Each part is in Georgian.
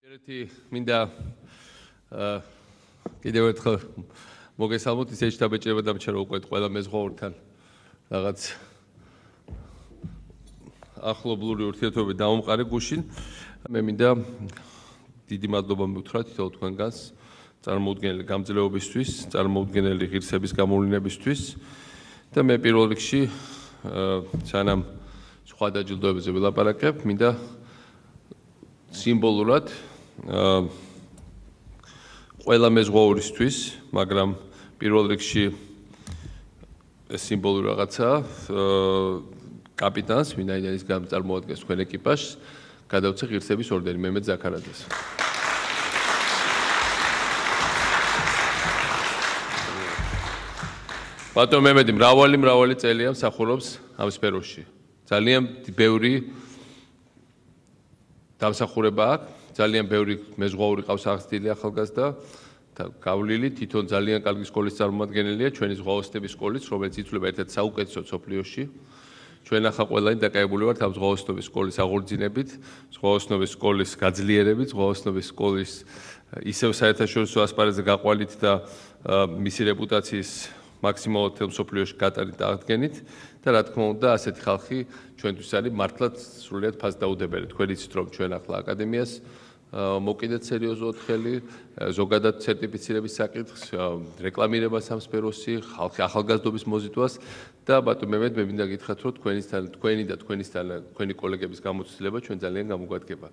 ერთი მინდა კიდევ ერთხელ მოგესალმოთ, ისე შტაბეჭება დამჩა რომ უკვე ყველა მეზღვაურთან რაღაც ახლობლური ურთიერთობები დავამყარე გუშინ. მე მინდა დიდი მადლობა მივუთხრა თითოეულ თქვენგანს წარმოუდგენელი გამძლეობისთვის, წარმოუდგენელი ღირსების გამოვლენებისთვის და მე პირველ რიგში სანამ სხვა დაჯილდოებებზე ვილაპარაკებ, მინდა სიმბოლურად ყველა მეზღვაურისთვის, მაგრამ პირველ რიგში სიმბოლური რაღაცა კაპიტანს, ვინაიდან ის წარმოადგენს თქვენ ეკიპაჟს, გადავცე ღირსების ორდენი მემედ ზაქარაძეს. ბატონ მემედი მრავალი წელია მსახურობს ამ სფეროში. ძალიან ბევრი დამსახურება აქვს, ძალიან ბევრი მეზღვაური ყავს აღზრდილი ახალგაზრდა და გავლილი თვითონ ძალიან კარგი სკოლის წარმომადგენელია ჩვენი ზღვაოსნების სკოლის, რომელიც ითვლება ერთ-ერთ საუკეთესო სოფლიოში. ჩვენ ახლა ყველანი დაკავებული ვართ ამ ზღვაოსნობის სკოლის აღორძინებით, ზღვაოსნობის სკოლის გაძლიერებით, ზღვაოსნობის სკოლის ისევ საერთაშორისო ასპარეზზე გაყვალით და მისი რეპუტაციის მაქსიმალურად მსოფლიოში გატარით და აღდგენით და რა თქმა უნდა ასეთი ხალხი ჩვენთვის არის მართლაც სრულიად ფასდაუდებელი. თქვენ იცით რომ ჩვენ ახლა აკადემიას მოკიდეთ სერიოზულად ხელი, ზოგადად სერტიფიცირების საკითხს, რეკლამირებას ამ სფეროში, ხალხი ახალგაზრდობის მოზიდვას და ბატონ მემედ მე მინდა გითხრათ რომ თქვენი კოლეგების გამოცდილება ჩვენ ძალიან გამოგვადგება.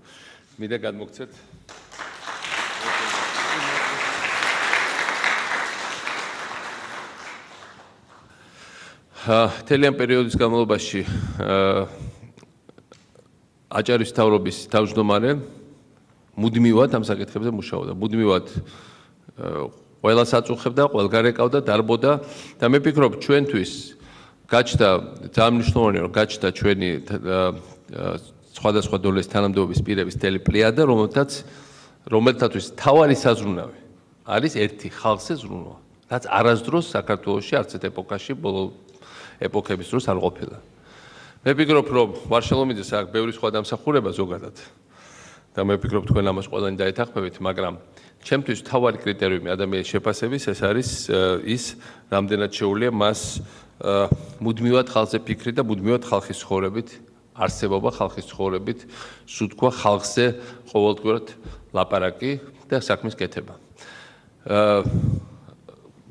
მინდა გადმოგცეთ თელიან პერიოდის განმავლობაში აჭარის მთავრობის თავმჯდომარე მუდმივად ამ საკითხებზე მუშაობდა. მუდმივად ყველას აწუხებდა, ყველგან ეკავდა, დარბოდა და მე ვფიქრობ ჩვენთვის გაჩნდა ძალიან მნიშვნელოვანია რომ გაჩნდა ჩვენი სხვადასხვა დონეს თანამდებობის პირების მთელი პლიადა, რომელთათვის თავარი საზრუნავი არის ერთი ხალხზე ზრუნვა, რაც არასდროს საქართველოში არც ერთ ეპოქაში ბოლო ეპოქების დროს არ ყოფილა. მე ვფიქრობ რომ ვარშალომიძეს აქვს ბევრი სხვა დამსახურება ზოგადად და მე ვფიქრობ თქვენ ამას ყველანი დაეთანხმებით, მაგრამ ჩემთვის თავარი კრიტერიუმი ადამიანის შეფასების ეს არის ის, რამდენად შეუძლია მას მუდმივად ხალხზე ფიქრი და მუდმივად ხალხის ცხოვრებით არსებობა, ხალხის ცხოვრებით სუთქვა, ხალხზე ყოველდღურად ლაპარაკი და საქმის კეთება.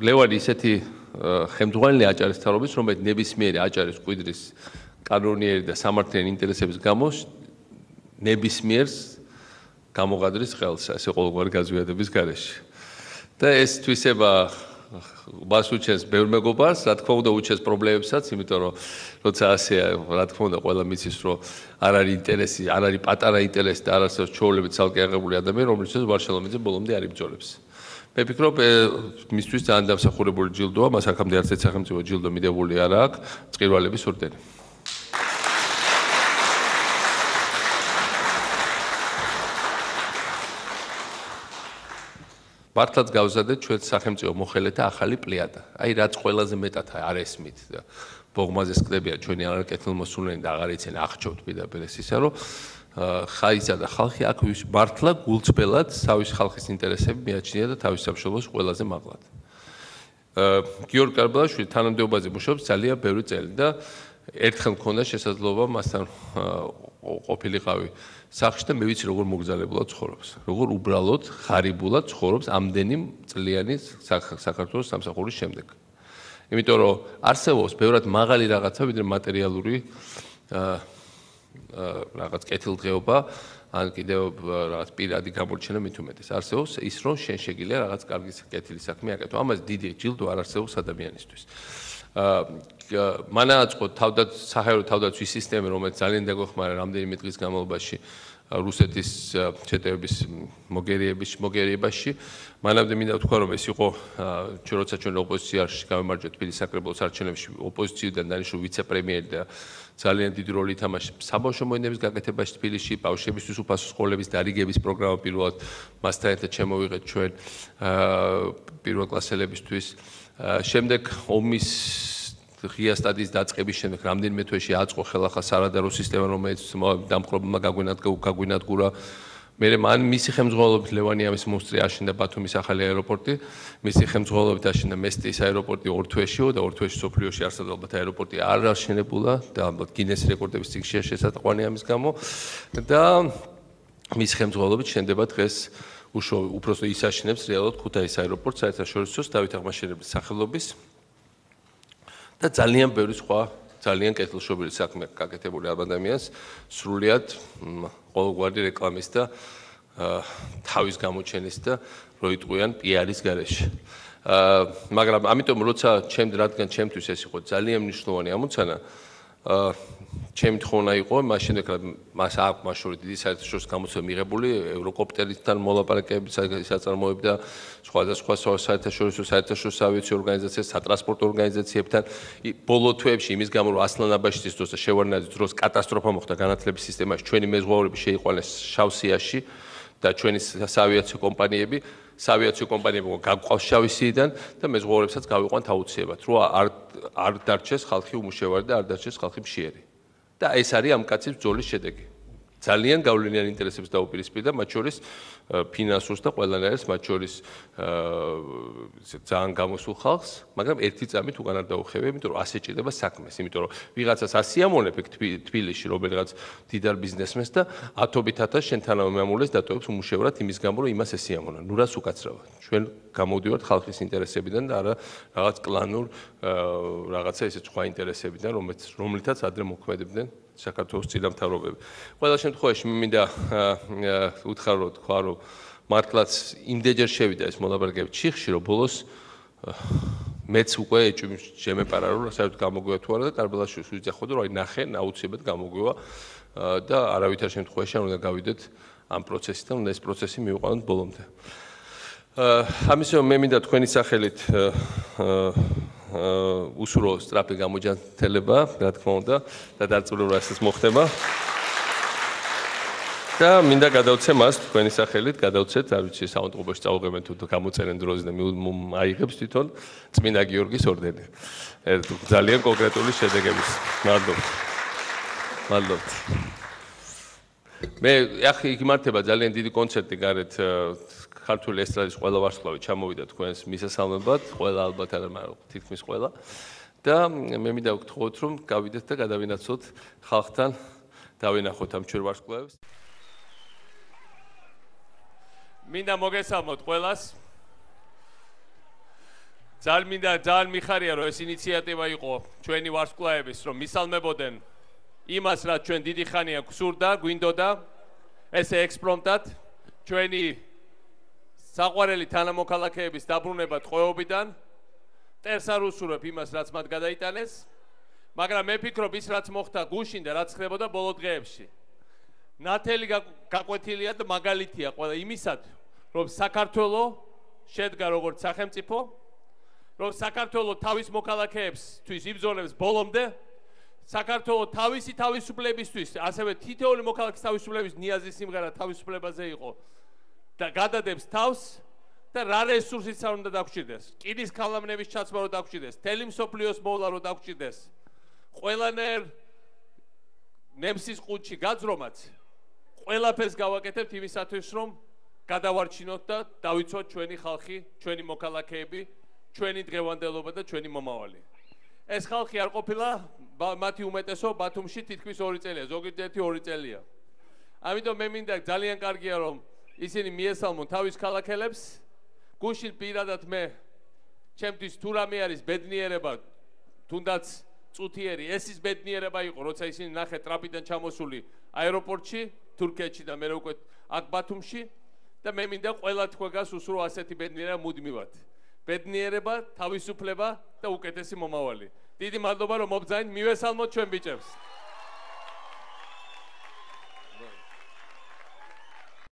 ლევანი ისეთი ხელმძღვანელი აჭარის მთავრობის, რომელიც ნებისმიერი აჭარის მკვიდრის კანონიერი და სამართლიანი ინტერესების გამო ნებისმიერს გამოღადრის ხელს, ასე ყოველგვარი გაზვიადების გარეშე. და ეს თვისება მას უჩენს ბევრ მეგობარს, რა თქმა უნდა უჩენს პრობლემებსაც, იმიტომ რომ როცა ასეა, რა თქმა უნდა ყველა მიცის, რომ არ არის ინტერესი, არ არის პატარა ინტერესი და არ არსებობს ჩვეულებრივ ცალკე აღებული ადამიანი, რომელსაც ვარშალომიძე ბოლომდე არ იბრძოლებს. მე ვფიქრობ, მისთვის ძალიან დამსახურებული ჯილდოა, მას აქამდე არც ერთ სახელმწიფო ჯილდო მიდებული არ აქვს, წყირვალების ორდენი. მართლაც გავზადეთ ჩვენ სახელმწიფო მოხელეთა ახალი პლიადა. აი რაც ყველაზე მეტად არ ესმით და ბოღმაზე სკდებიან ჩვენი არაკეთილმოსულნი და აღარ იციან აღჭობთ პირდაპირ ეს ისა რომ ხაისა და ხალხი აქ მართლა გულწრფელად თავის ხალხის ინტერესები მიაჩნია და თავის სამშობლოს ყველაზე მაღლად. გიორგი კარბალაშვილი თანამდებობაზე მუშაობს ძალიან ბევრი წელი და ერთხელ მქონდა შესაძლებლობა მასთან ყოფილიყავი სახლში და მე ვიცი როგორ მოგზაურებულად ცხოვრობს, როგორ უბრალოდ ხარიბულად ცხოვრობს ამდენი წლიანი საქართველოს სამსახურის შემდეგ. იმიტომ რომ არსებობს ბევრად მაღალი რაღაცა ვიდრე მატერიალური რაღაც კეთილდღეობა, ან კიდევ რაღაც პირადი გამორჩენა მით უმეტეს. არსებობს ის რომ შენ შეგიძლია რაღაც კარგი კეთილი საქმე აკეთო. ამას დიდი ჯილდო არ არსებობს ადამიანისთვის. მანააწყო საჰაერო თავდაცვის სისტემა, რომელიც ძალიან დაგვეხმარა რამდენიმე დღის განმავლობაში რუსეთის შეტევების მოგერიებაში. მანამდე მინდა ვთქვა, რომ ეს იყო როცა ჩვენ ოპოზიციაში გამემარჯვეთ თბილისის საკრებულოს არჩევნებში ოპოზიციიდან დანიშნულ ვიცე-პრემიერი და ძალიან დიდი როლი ითამაშა საბავშვო მოედნების გაკეთებაში თბილისში, ბავშვებისთვის უფასო სკოლების დარიგების პროგრამა პირველად მასთან ერთად შემოვიღეთ ჩვენ პირველკლასელებისთვის. შემდეგ ომის ღია სტადიის დაწყების შემდეგ რამდენიმე თვეში აწყო ხელახლა სარადარო სისტემა, რომელიც დამპყრობლებმა გაგვინადგურა მე მან მისი ხელმძღვანელობით ლევანიამის მომსწრე აშენდა ბათუმის ახალი აეროპორტი, მისი ხელმძღვანელობით აშენდა მესტიის აეროპორტი ორ თვეშიო და ორ თვეში სოფლიოში არსად ალბათ აეროპორტი არ აშენებულა და ალბათ გინეს რეკორდების წიგნშია შესატყვანი ამის გამო და მისი ხელმძღვანელობით შენდება დღეს უпросто ის აშენებს რეალურად ქუთაისის აეროპორტს საერთაშორისო დავით აღმაშენებლის სახელობის და ძალიან ბევრი სხვა ძალიან კეთილშობილი საქმე გაკეთებული ამ ადამიანს სრულიად ყოველგვარი რეკლამის და თავის გამოჩენის და როიტყვიან პიარის გარეშე. მაგრამ ამიტომ როცა რადგან ჩემთვის ეს იყო ძალიან მნიშვნელოვანი ამოცანა, ჩემი თხოვნა იყო მაშინ მას აქვს მაშინ დიდი საერთაშორისო გამოცემა მიღებული ევროკოპტერისთან მოლაპარაკებების საწარმოები და სხვადასხვა საერთაშორისო ავიაციო ორგანიზაციებთან, სატრანსპორტო ორგანიზაციებთან ბოლო თვეებში იმის გამო რომ ასლანაბაშიძის დროს და შევარდნაძის დროს კატასტროფა მოხდა განათლების სისტემაში, ჩვენი მეზღვაურები შეიყვანეს შავსიაში და ჩვენი საავიაციო კომპანიები გაგვყავს შავისიდან და მეზღვაურებსაც გავიყვანთ აუცილებლად, რომ არ დარჩეს ხალხი უმუშევარი და არ დარჩეს ხალხი მშიერი. და ეს არის ამ კაცის ბრძოლის შედეგი. ძალიან გავლენიან ინტერესებს დაუპირისპირდა, მათ შორის ფინანსურს და ყველანაირს, მათ შორის ძალიან გამოსულ ხალხს, მაგრამ ერთი წამით უკან არ დაუხევია, იმიტომ რომ ასე ჭირდება საქმეს, იმიტომ რომ ვიღაცას ასიამონებ თბილისში, რომელიღაც დიდარ ბიზნესმენს და ათობით ათას შენთანავე მამულეს დატოვებს უმუშევრად იმის გამო, რომ იმას ესიამონა. ნუ რას უკაცრავად? ჩვენ გამოვდივართ ხალხის ინტერესებიდან და არა რაღაც კლანურ რაღაცა ისეთ სხვა ინტერესებიდან, რომლითაც ადრე მოქმედებდნენ საქართველოს წინამთავრობები. ყველა შემთხვევაში მე მინდა უთხრა რომ თქვა რომ მართლაც იმდენჯერ შევიდა ეს მოლაპარაკება ჩიხში რომ ბოლოს მეც უკვე შემეპარა რომ საერთოდ გამოგვივა თუ არა და კარბელაშვილს ვიძახოდა რომ აი ნახე აუცილებლად გამოგვივა და არავითარ შემთხვევაში არ უნდა გავიდეთ ამ პროცესიდან უნდა ეს პროცესი მივიყვანოთ ბოლომდე. ამისო მე მინდა თქვენი სახელით უსურო სწრაფი გამოჯანმრთელება, რა თქმა უნდა, და დაწვრილება ეს მოხდება. და მინდა გადავცე მას თქვენი სახელით, გადავცეთ, არ ვიცი, საავადმყოფოში წავუღებენ თუ გამოწერენ დროზე და აიღებს თვითონ წმინდა გიორგის ორდენი. ძალიან კონკრეტული შედეგების. მადლობთ. მე ახლა იმართება ძალიან დიდი კონცერტი გარეთ ქართული ესტრადის ყველა ვარსკვლავი ჩამოვიდა თქვენს მისასალმებად, ყველა ალბათ არა, მაგრამ თითქმის ყველა. და მე მინდა გთხოვოთ, რომ გავიდეთ და გადავინაცვლოთ ხალხთან, დავინახოთ ამ ჩვენ ვარსკვლავებს. მინდა მოგესალმოთ ყველას. ძალიან მიხარია, რომ ეს ინიციატივა იყო ჩვენი ვარსკვლავების, რომ მისალმებოდნენ იმას, რაც ჩვენ დიდი ხანია გვსურდა, გვინდოდა, ესე ექსპრომტად ჩვენი საყვარელი თანამოქალაქეების დაბრუნება ტყვეობიდან ტერს არ უსურვებ იმას, რაც მათ გადაიტანეს, მაგრამ მე ვფიქრობ ის, რაც მოხდა გუშინ და რაც ხდებოდა ბოლო დღეებში. ნათელი გაკვეთილია და მაგალითია ყველა იმისათვის, რომ საქართველო შედგა როგორც სახელმწიფო, რომ საქართველო თავის მოქალაქეებისთვის იბრძოლებს ბოლომდე, საქართველო თავისი თავისუფლებისთვის, ასევე თითოეული მოქალაქის თავისუფლების ნიაზის სიმღერა თავისუფლებაზე იყო. და გადადებს თავს და რა რესურსიც არ უნდა დაგჭირდეს. კიდის ქალამნების ჩაცმა რო დაგჭირდეს, თელი მსოფლიოს მოვლა რო დაგჭირდეს. ყველანაირ ნემსის ყუთში გაძრომაც ყველაფერს გავაკეთებთ იმისათვის, რომ გადავარჩინოთ და დავიცვათ ჩვენი ხალხი, ჩვენი მოქალაქეები, ჩვენი დღევანდელობა და ჩვენი მომავალი. ეს ხალხი არ ყოფილა მათი უმეტესობა ბათუმში თითქმის 2 წელია, ზოგიერთი 2 წელია. ამიტომ მე მინდა ძალიან კარგია რომ ისინი მიესალმონ თავის ქალაქელებს. გუშინ პირადად მე ჩემთვის თუ რამე არის ბედნიერება, თუნდაც წუთიერი, ეს ის ბედნიერება იყო, როცა ისინი ნახე ტრაპიდან ჩამოსული აეროპორტში, თურქეთში და მე უკვე აქ ბათუმში და მე მინდა ყველა თქვენგანს უსურო ასეთი ბედნიერება მუდმივად. ბედნიერება, თავისუფლება და უკეთესი მომავალი. დიდი მადლობა რომ მობძანით, მივესალმოთ ჩვენ ბიჭებს.